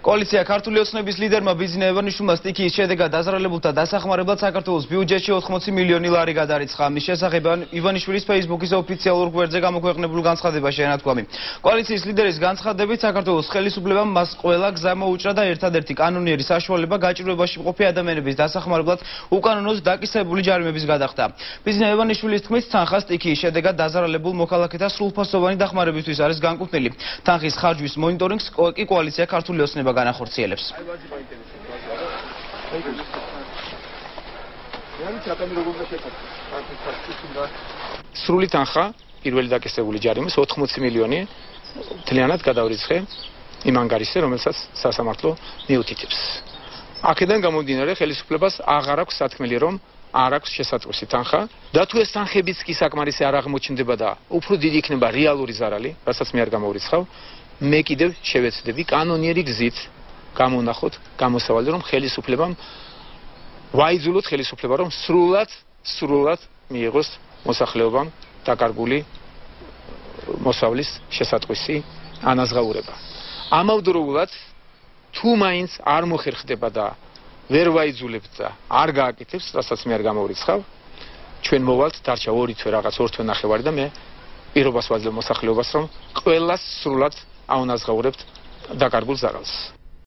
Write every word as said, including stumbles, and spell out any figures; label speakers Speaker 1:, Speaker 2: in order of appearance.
Speaker 1: კოალიცია ქართული ოცნების ლიდერმა ბიზნე ევანიშვილმა სტიქიის შედეგად დაზარალებულთა დასახმარებლად საქართველოს ბიუჯეტში ოთხმოცი მილიონი ლარი გადარიცხა. ამის შესახებ ივანიშვილის Facebook-ის ოფიციალურ გვერდზე გამოქვეყნებულ განცხადებაში ენათქვამი. კოალიციის ლიდერის განცხადებით საქართველოს ხელისუფლებამ მას ყველა გზა მოუჭრა და ერთადერთი კანონიერი საშუალება გაჭირვებაში მყოფი ადამიანების დასახმარებლად უკანონოდ დაკისრებული ჯარიმების გადახდა. ბიზნე ევანიშვილის თქმით, თანხა სტიქიის შედეგად დაზარალებულ მოქალაქეთა სრულფასოვანი დახმარებისთვის არის განკუთვნილი. თანხის ხარჯვის მონიტორინგს კი კოალიცია ქართული ოცნება განახორციელებს.
Speaker 2: სრული თანხა პირველი დაკისრებული ჯარიმის ოთხმოცი მილიონი მთლიანად გადავრიცხე იმ ანგარიშზე, რომელსაც სასამართლო მიუთითებს. აქედან გამომდინარე, ხელისუფლებას აღარ აქვს სათქმელი, რომ არ აქვს შესატყვისი თანხა და თუ ეს თანხებიც კი საკმარისი არ აღმოჩნდება და უფრო დიდი იქნება რეალური ზარალი, რასაც მე არ გამოვრიცხავ, მე კიდევ შევეცდები კანონიერი გზით გამონახოთ გამოსავალი, რომ ხელისუფლებამ ვაიძულოთ ხელისუფლება, რომ სრულად სრულად მიიღოს მოსახლეობამ დაკარგული მოსავლის შესატყვისი ანაზღაურება. ამავდროულად თუ მაინც არ მოხერხდება და ვერ ვაიძულებთ და არ გააკეთებს, რასაც მე არ გამოვრიცხავ, ჩვენ მოვალთ დარჩა ორი თვე რაღაც ორ თვე ნახევარი და მე პირობას ვაძლევ მოსახლეობას, რომ ყველას სრულად აუნაზღაურებთ დაკარგულ ზარალს.